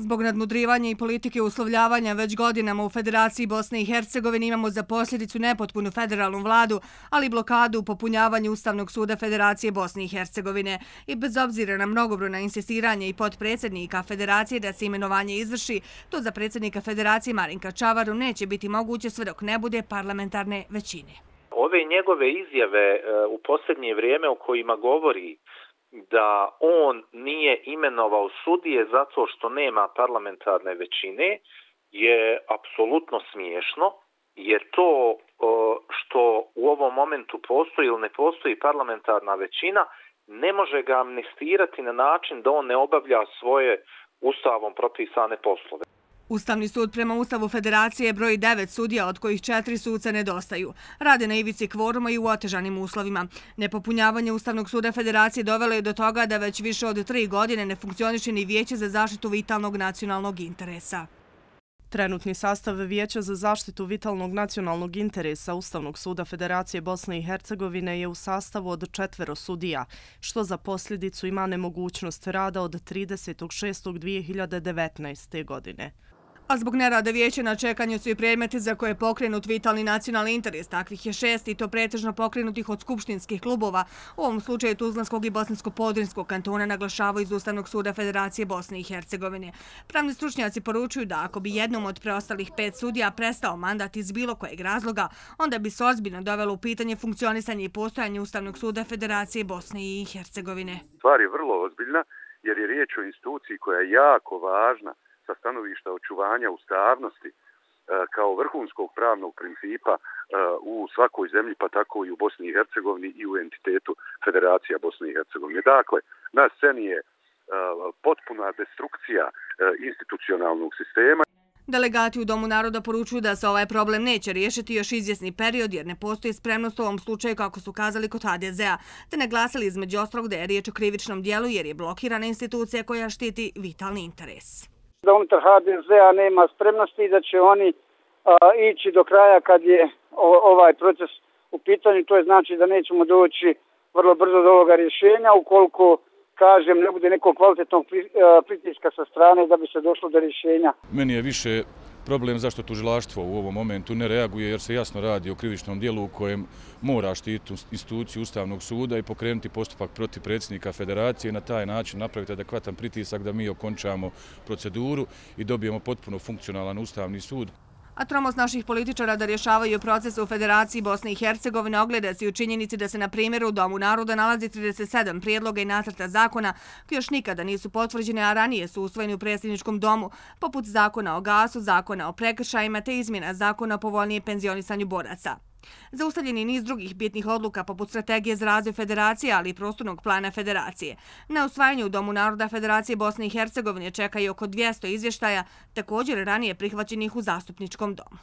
Zbog nadmudrivanja i politike uslovljavanja već godinama u Federaciji Bosne i Hercegovine imamo za posljedicu nepotpunu federalnu vladu, ali i blokadu u popunjavanju Ustavnog suda Federacije Bosne i Hercegovine. I bez obzira na mnogobrojna insistiranja i potpredsjednika Federacije da se imenovanje izvrši, to za predsjednika Federacije Marinka Čavaru neće biti moguće sve dok ne bude parlamentarne većine. Ove njegove izjave u posljednje vrijeme o kojima govori da on nije imenovao sudije zato što nema parlamentarne većine je apsolutno smiješno, jer to što u ovom momentu postoji ili ne postoji parlamentarna većina ne može ga amnestirati na način da on ne obavlja svoje ustavom propisane poslove. Ustavni sud prema Ustavu Federacije broji 9 sudija, od kojih 4 suca nedostaju. Rade na ivici kvoruma i u otežanim uslovima. Nepopunjavanje Ustavnog suda Federacije dovelo je do toga da već više od 3 godine ne funkcioniše ni Vijeće za zaštitu vitalnog nacionalnog interesa. Trenutni sastav Vijeća za zaštitu vitalnog nacionalnog interesa Ustavnog suda Federacije Bosne i Hercegovine je u sastavu od 4 sudija, što za posljedicu ima nemogućnost rada od 30.6.2019. godine. A zbog nerada vijeća na čekanju su i predmeti za koje je pokrenut vitalni nacionalni interes. Takvih je 6 i to pretežno pokrenutih od skupštinskih klubova. U ovom slučaju Tuzlanskog i Bosansko-Podrinjskog kantona naglašavaju iz Ustavnog suda Federacije Bosne i Hercegovine. Pravni stručnjaci poručuju da ako bi jednom od preostalih 5 sudija prestao mandat iz bilo kojeg razloga, onda bi se ozbiljno dovelo u pitanje funkcionisanje i postojanje Ustavnog suda Federacije Bosne i Hercegovine. Stvar je vrlo ozbiljna jer je riječ o instituciji koja je jako važna sa stanovišta očuvanja ustavnosti kao vrhunskog pravnog principa u svakoj zemlji, pa tako i u Bosni i Hercegovini i u entitetu Federacija Bosne i Hercegovine. Dakle, na sceni je potpuna destrukcija institucionalnog sistema. Delegati u Domu naroda poručuju da se ovaj problem neće riješiti još izvjesni period jer ne postoji spremnost u ovom slučaju kako su kazali kod HDZ-a, te naglasili između ostalog da je riječ o krivičnom dijelu jer je blokirana institucija koja štiti vitalni interes. Da unutar HDZ-a nema spremnosti i da će oni ići do kraja kad je ovaj proces u pitanju. To je znači da nećemo doći vrlo brzo do ovoga rješenja ukoliko, kažem, ne bude nekog kvalitetnog pritiska sa strane da bi se došlo do rješenja. Meni je više problem zašto tužilaštvo u ovom momentu ne reaguje jer se jasno radi o krivičnom dijelu u kojem mora štititi instituciju Ustavnog suda i pokrenuti postupak protiv predsjednika Federacije i na taj način napraviti adekvatan pritisak da mi okončamo proceduru i dobijemo potpuno funkcionalan Ustavni sud. A tromost naših političara da rješavaju proces u Federaciji Bosne i Hercegovine ogleda se u činjenici da se na primjeru u Domu naroda nalazi 37 prijedloga i nacrta zakona koji još nikada nisu potvrđene, a ranije su usvojeni u predsjedničkom domu, poput zakona o gasu, zakona o prekršajima te izmjena zakona o povoljnijem penzionisanju boraca. Zaustavljen je niz drugih bitnih odluka poput strategije za razvoj Federacije, ali i prostornog plana Federacije. Na usvajanju u Domu naroda Federacije Bosne i Hercegovine čeka i oko 200 izvještaja, također ranije prihvaćenih u Zastupničkom domu.